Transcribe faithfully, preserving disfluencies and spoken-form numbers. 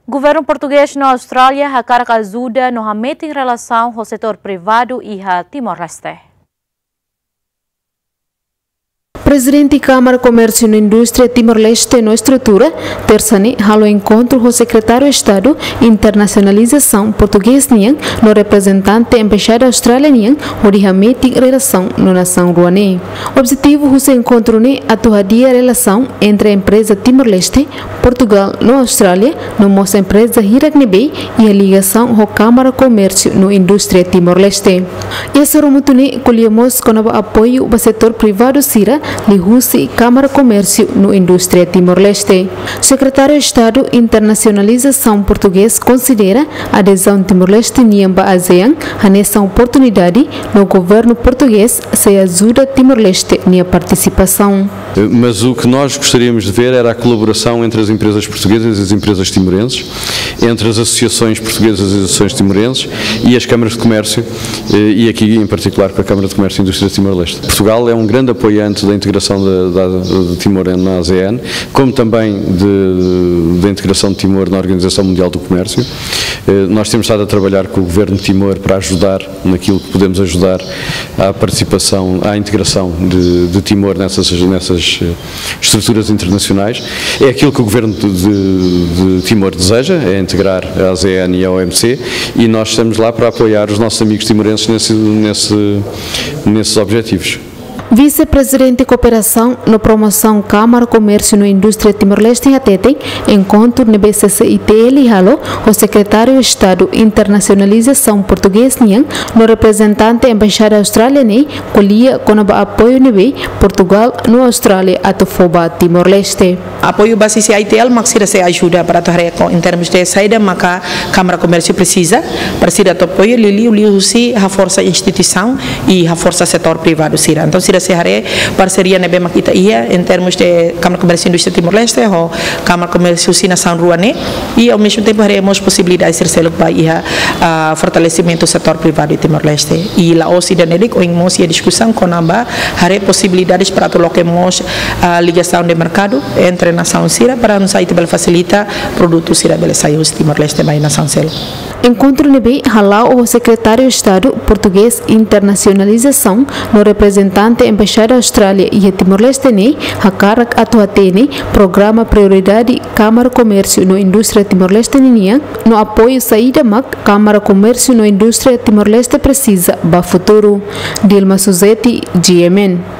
Governu portugés no Austrália hakarak ajuda no hametin relasaun ho setór privadu iha Timor-Leste. Prezidente Kámara Komérsiu no Indústria Timor-Leste no estrutura, tersa ne'e halo enkontru ho Sekretáriu Estadu Internasionalizasaun portugés nian no reprezentante Embaixada Austrália nian hodi hametin relasaun no nasaun rua ne'e. Objetivu husi enkontru ne'e atu hadi'a relasaun entre empreza Timor-Leste, Portugál no Austrália, no mós empreza hirak ne'ebé iha ligasaun ho Kámara Komérsiu no Indústria Timor-Leste. Iha sorumutu ne'e ko'alia mós kona-ba apoiu ba setór privadu sira liuhusi Kámara Komérsiu no Indústria Timor-Leste. Sekretáriu Estadu Internasionalizasaun portugés konsidera adezaun Timor-Leste nian ba ASEAN hanesan oportunidade no governu portugés sei ajuda Timor-Leste nia partisipasaun. Mas o que nós gostaríamos de ver era a colaboração entre as empresas portuguesas e as empresas timorenses, entre as associações portuguesas e as associações timorenses e as câmaras de comércio, eh, e aqui em particular com a Câmara de Comércio e Indústria de Timor-Leste. Portugal é um grande apoiante da integração da, da, de Timor na ASEAN, como também de, da integração de Timor na Organização Mundial do Comércio. Eh, nós temos estado a trabalhar com o governo de Timor para ajudar naquilo que podemos ajudar à participação, à integração de, de Timor nessas, nessas, eh, estruturas internacionais. É aquilo que o governo de, de, de Timor deseja, é integrar a ASEAN e a OMC, e nós estamos lá para apoiar os nossos amigos timorenses nesse, nesse, nesses objetivos. Vise-Prezidente Kooperasaun no Promosaun Kámara Komérsiu no Indústria Timor-Leste hateten, enkontru ne'ebé CCITL halo ho Sekretáriu Estadu Internasionalizasaun portugés nian no reprezentante Embaixada Austrália ne'e ko'alia kona-ba apoiu ne'ebé Portugál no Austrália atu fó ba Timor-Leste. Apoiu ba CCITL mak sira sei ajuda para atu haree em termos de saida maka Kámara Komérsiu presiza, para sira atu apoiu liuliu liuhusi haforsa instituisaun i haforsa setór privadu sira. Entaun sira sei haree parseria ne'ebé mak ita iha em termos de Kámara Komérsiu Indústria Timor-Leste ho Kámara Komérsiu husi nasaun rua ne'e, i ao mesmo tempo haree mós posibilidade sira seluk ba iha, ah, fortalesimentu setór privadu Timor-Leste. I la'ós ida-ne'e de'it, ohin mós iha diskusaun kona-ba haree posibilidades para atu loke mós, ah, ligasaun de merkadu entre nasaun sira para oinsá ita bele fasilita produtu sira bele sai husi Timor-Leste mai nasaun seluk. Enkontru ne'ebé hala'o ho Sekretáriu Estadu portugés Internasionalizasaun no reprezentante Embaixada Austrália iha Timor-Leste ne'e hakarak atu hatene programa prioridade Kámara Komérsiu no Indústria Timor-Leste ninian no apoiu saida mak Kámara Komérsiu no Indústria Timor-Leste presiza ba futuru. Dilma Suzeti, GMN.